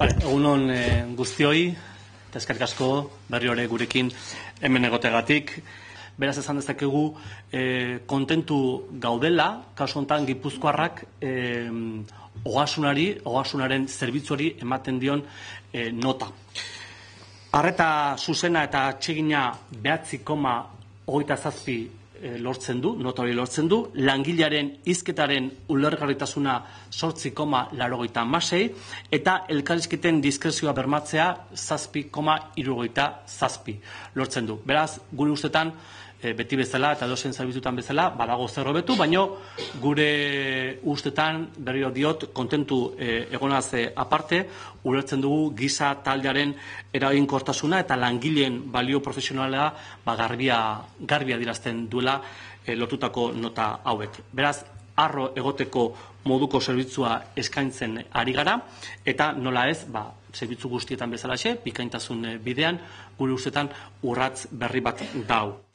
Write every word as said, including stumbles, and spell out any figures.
Egun hon guztioi, eta eskerrik asko berri hori gurekin hemen egotegatik. Beraz esan dezakegu kontentu gaudela, kasu honetan Gipuzkoarrak ogasunari, ogasunaren zerbitzuari ematen dion nota. Arreta zuzena eta atsegina behatzi koma hogeita zazpi lortzen du, nota hori lortzen du, langilearen hizketaren ulergarritasuna zortzi koma laurogeita hamasei eta elkarrizketen diskrezioa bermatzea zazpi koma hirurogeita zazpi lortzen du. Beraz, gure ustetan, beti bezala eta edozein zerbitzutan bezala, badago zer hobetu, baino gure ustetan, berriro diot, kontentu egonaz aparte, ulertzen dugu giza taldearen eraginkortasuna eta langileen balio profesionala garbia adierazten duela lortutako nota hauek. Beraz, harro egoteko moduko zerbitzua eskaintzen ari gara, eta nola ez, zerbitzu guztietan bezalaxe, bikaintasun bidean, gure ustetan urratz berri bat dau.